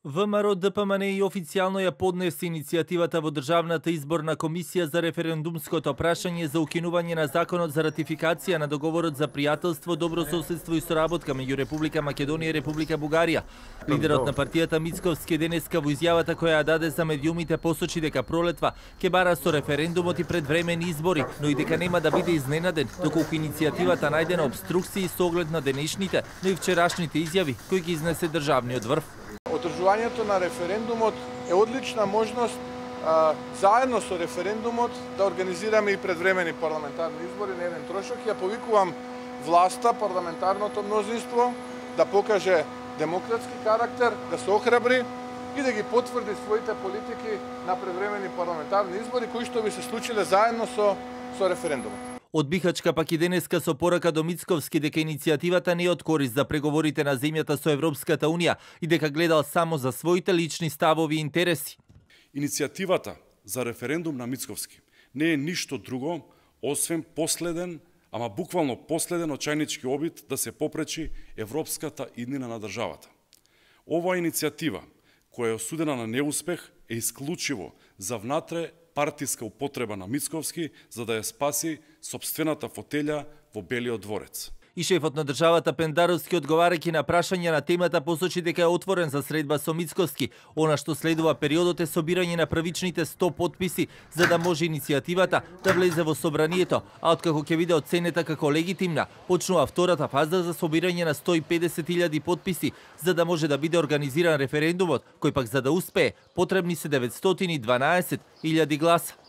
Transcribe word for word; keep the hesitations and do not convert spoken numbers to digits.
ВМРО Д П М Н и официјално ја поднесе иницијативата во Државната изборна комисија за референдумското прашање за укинување на законот за ратификација на договорот за пријателство, добро соседство и соработка меѓу Република Македонија и Република Бугарија. Лидерот на партијата Мицковски денеска во изјавата која ја даде за медиумите посочи дека пролетва ќе бара со референдумот и предвремени избори, но и дека нема да биде изненаден доколку иницијативата најде на обструкции со оглед на денешните, но и вчерашните изјави кои ги изнесе државниот врв. Одржувањето на референдумот е одлична можност а, заедно со референдумот да организираме и предвремени парламентарни избори на еден трошок. Ја повикувам власта, парламентарното мнозинство да покаже демократски карактер, да се охрабри и да ги потврди своите политики на предвремени парламентарни избори кои што би се случиле заедно со со референдумот. Од Бихачка пак и денеска со порака до Мицковски дека иницијативата не е од корист за преговорите на земјата со Европската Унија и дека гледал само за своите лични ставови и интереси. Иницијативата за референдум на Мицковски не е ништо друго освен последен, ама буквално последен очајнички обид да се попречи европската иднина на државата. Оваа иницијатива, која е осудена на неуспех, е исклучиво за внатре партиска употреба на Мицковски за да ја спаси сопствената фотелја во Белиот дворец. И шефот на државата Пендаровски, одговарајќи на прашања на темата, посочи дека е отворен за средба со Мицковски. Она што следува периодот е собирање на првичните сто потписи за да може иницијативата да влезе во собранието, а откако ќе биде оценета како легитимна, почнува втората фаза за собирање на сто и педесет илјади потписи за да може да биде организиран референдумот, кој пак за да успее потребни се деветстотини и дванаесет илјади гласа.